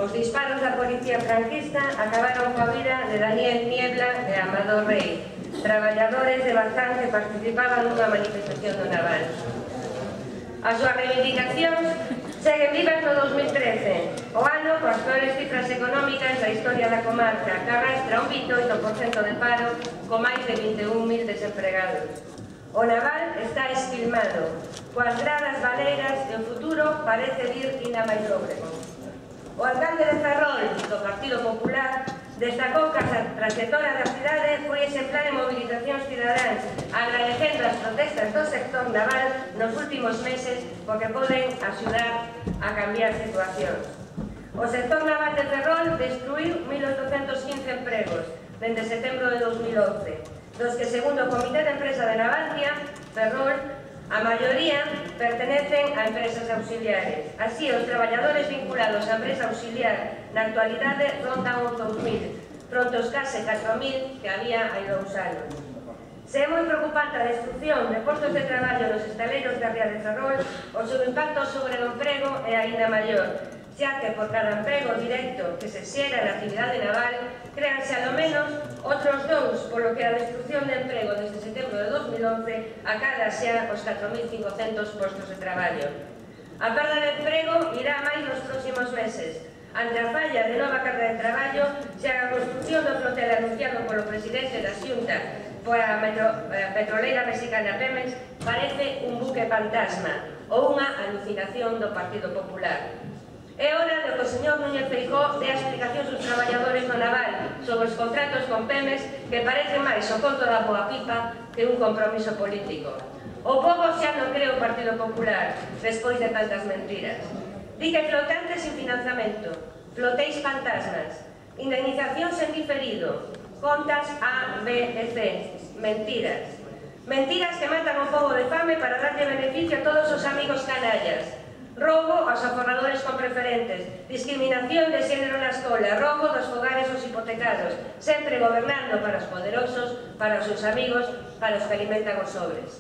Os disparos da policía franquista acabaron coa vida de Daniel Niebla e Amador Rey, traballadores de Bazán que participaban nunha manifestación do Naval. As súas reivindicacións seguen vivas no 2013, o ano coas peores cifras económicas da historia da comarca, que arrastra un 28% de paro con máis de 21.000 desempregados. O Naval está esquilmado, coas gradas baleiras e o futuro parece vir ina máis lóbrego. O alcalde de Ferrol, do Partido Popular, destacou que a trayectoria da cidade foi exemplar en mobilizacións cidadáns, agradecendo as protestas do sector naval nos últimos meses porque poden axudar a cambiar situacións. O sector naval de Ferrol destruiu 1.815 empregos dende setembro de 2011, dos que, segundo o Comité de Empresa de Navantia, Ferrol, a maioría pertenecen a empresas auxiliares. Así, os traballadores vinculados á empresa auxiliar na actualidade rondan os 2.000, pronto os case 4.000 que había hai 2 anos. Se é moi preocupante a destrucción de postos de traballo nos estaleiros da ría de Ferrol, o seu impacto sobre o emprego é aínda maior, xa que por cada emprego directo que se xera na actividade naval, créanse alo menos outros 2, polo que a destrucción de emprego desde setembro de 2011 acada xa os 4.500 postos de traballo. A perda de emprego irá máis nos próximos meses. Ante a falla de nova carga de traballo, xa a construcción do flotel anunciado polo presidente da Xunta pola petroleira mexicana Pemex parece un buque fantasma ou unha alucinación do Partido Popular. É hora de que o señor Núñez Feijóo dé explicacións aos traballadores do naval sobre os contratos con Pemex que parece máis o conto da boa pipa que un compromiso político. O pobo xa non cree o Partido Popular despois de tantas mentiras. Di que flotantes sin financiamento, flotéis fantasmas, indemnizacións en diferido, contas A, B e C, mentiras. Mentiras que matan o pobo de fame para darlle beneficio a todos os amigos canallas. Roubo aos aforradores con preferentes, discriminación de xénero na escola, roubo dos fogares aos hipotecados, sempre gobernando para os poderosos, para os seus amigos, para os que alimentan os sobres.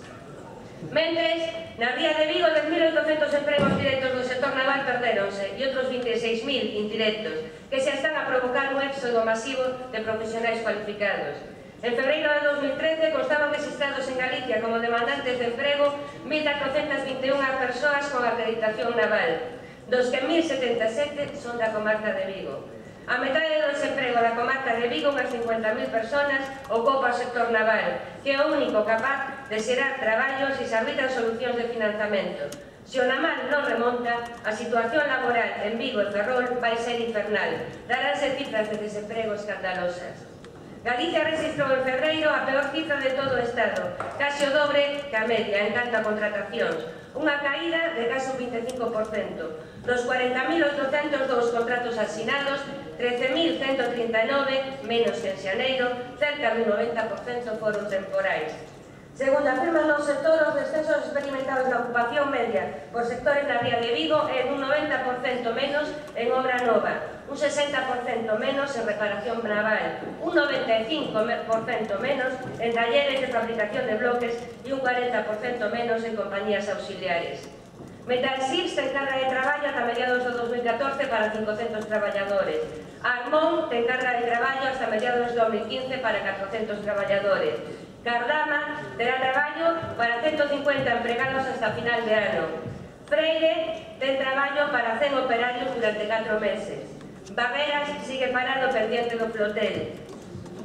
Mentres, na ría de Vigo, 10.800 empregos directos do sector naval perdéronse e outros 26.000 indirectos, que xa están a provocar un éxodo masivo de profesionais cualificados. En febreiro de 2013 constaban registrados en Galicia como demandantes de emprego 1.421 persoas con acreditación naval, dos que 1.077 son da comarca de Vigo. A metade do desemprego da comarca de Vigo, unhas 50.000 personas, ocupa o sector naval, que é o único capaz de xerar traballos e se arbitran solucións de financiamento. Se o naval non remonta, a situación laboral en Vigo e Ferrol vai ser infernal. Daránse cifras de desemprego escandalosas. Galicia registrou en febreiro a peor cifra de todo o Estado, case o dobre que a media en canto a contratacións, unha caída de case un 25%. Dos 40.802 contratos asinados, 13.139, menos que en xaneiro, cerca de un 90% foron temporais. Segundo afirman no sector, os descensos experimentados na ocupación media por sectores na ría de Vigo é un 90% menos en obra nova, un 60% menos en reparación naval, un 95% menos en talleres de fabricación de bloques e un 40% menos en compañías auxiliares. Metalsils ten carga de traballo ata mediados do 2014 para 500 traballadores. Armón ten carga de traballo hasta mediados do 2015 para 400 traballadores. Cardama terá traballo para 150 empregados hasta final de ano. Freire ten traballo para 100 operarios durante 4 meses. Barreras sigue parado pendiente do flotel.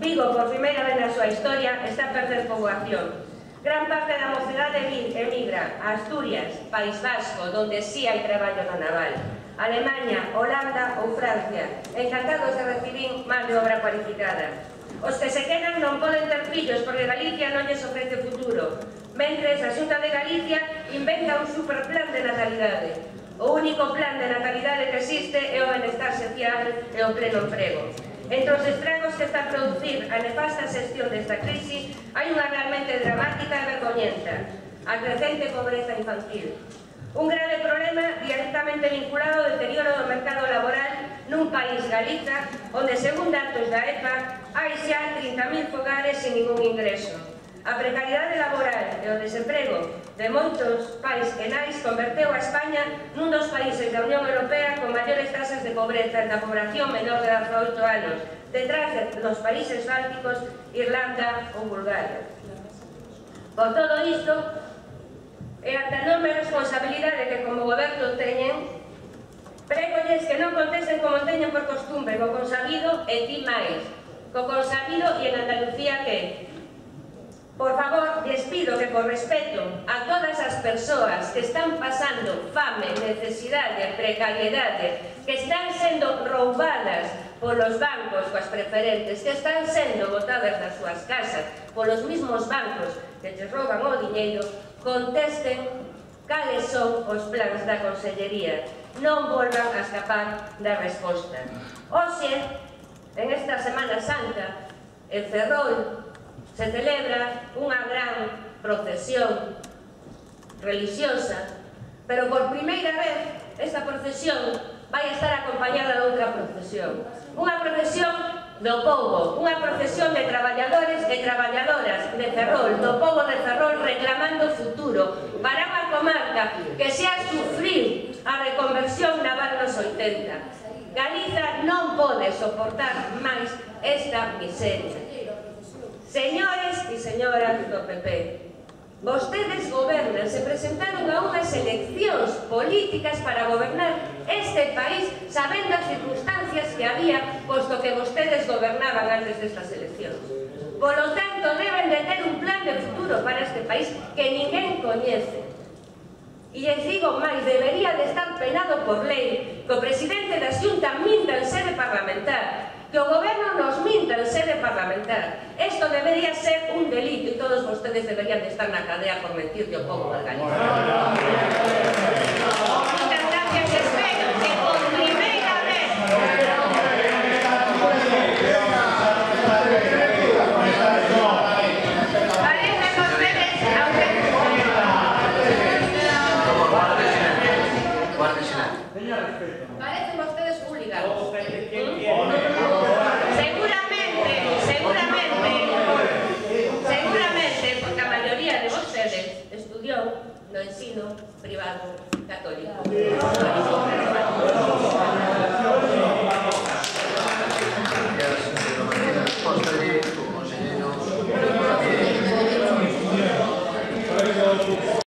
Vigo, por primeira vez na súa historia, está a perder poboación. Gran parte da mocidade emigra a Asturias, País Vasco, donde sí hai traballo no naval. Alemania, Holanda ou Francia, encantados de recibir máis de obra cualificada. Os que se quedan non poden ter fillos porque Galicia non lles ofrece futuro, mentres a Xunta de Galicia inventa un superplan de natalidade. O único plan de natalidade que existe é o benestar social e o pleno emprego. Entre os estragos que está a producir a nefasta xestión desta crise, hai unha realmente dramática e vergoñenta: a crecente pobreza infantil. Un grave problema directamente vinculado ao deterioro do mercado laboral nun país, Galiza, onde, según datos da EPA, hai xa 30.000 fogares sin ningún ingreso. A precariedade laboral e o desemprego de moitos pais e nais converteu a España nun dos países da Unión Europea con maiores tasas de pobreza da población menor de 18 anos, detrás dos países bálticos, Irlanda ou Bulgaria. Por todo isto, e ante a enorme responsabilidade que como goberno teñen, pregolles que non contesten como teñen por costumbre, co consabido e ti máis, co consabido e en Andalucía que por favor, les pido que por respeto a todas as persoas que están pasando fame, necesidade, precariedade, que están sendo roubadas polos bancos coas preferentes, que están sendo botadas das súas casas polos mismos bancos que les rouban o diñeiro, contesten cales son os plans da Consellería. Non volvan a escapar da resposta. Hoxe, en esta Semana Santa, en Ferrol, se celebra unha gran procesión religiosa, pero por primeira vez esta procesión vai estar acompañada de outra procesión. Unha procesión do pobo, unha procesión de traballadores e traballadoras de Ferrol, do pobo de Ferrol reclamando futuro para unha comarca que se a sufrir a reconversión naval nos 80. Galiza non pode soportar máis esta miseria. Señores e señoras do PP, vostedes gobernan, se presentaron a unhas eleccións políticas para gobernar este país sabendo as circunstancias que había, posto que vostedes gobernaban antes destas eleccións. Por lo tanto, deben de ter un plan de futuro para este país que ninguén coñece. E les digo máis, debería de estar penado por lei que o presidente da Xunta minta en sede parlamentar, que o goberno nos minta en sede parlamentar. Isto debería ser un delito e todos vostedes deberían de estar na cadea por mentir ao povo de Galicia. Moitas gracias, espero que por primeira vez parecen vostedes, parecen vostedes hooligans. Seguramente, porque a maioría de vostedes estudiou no ensino privado católico.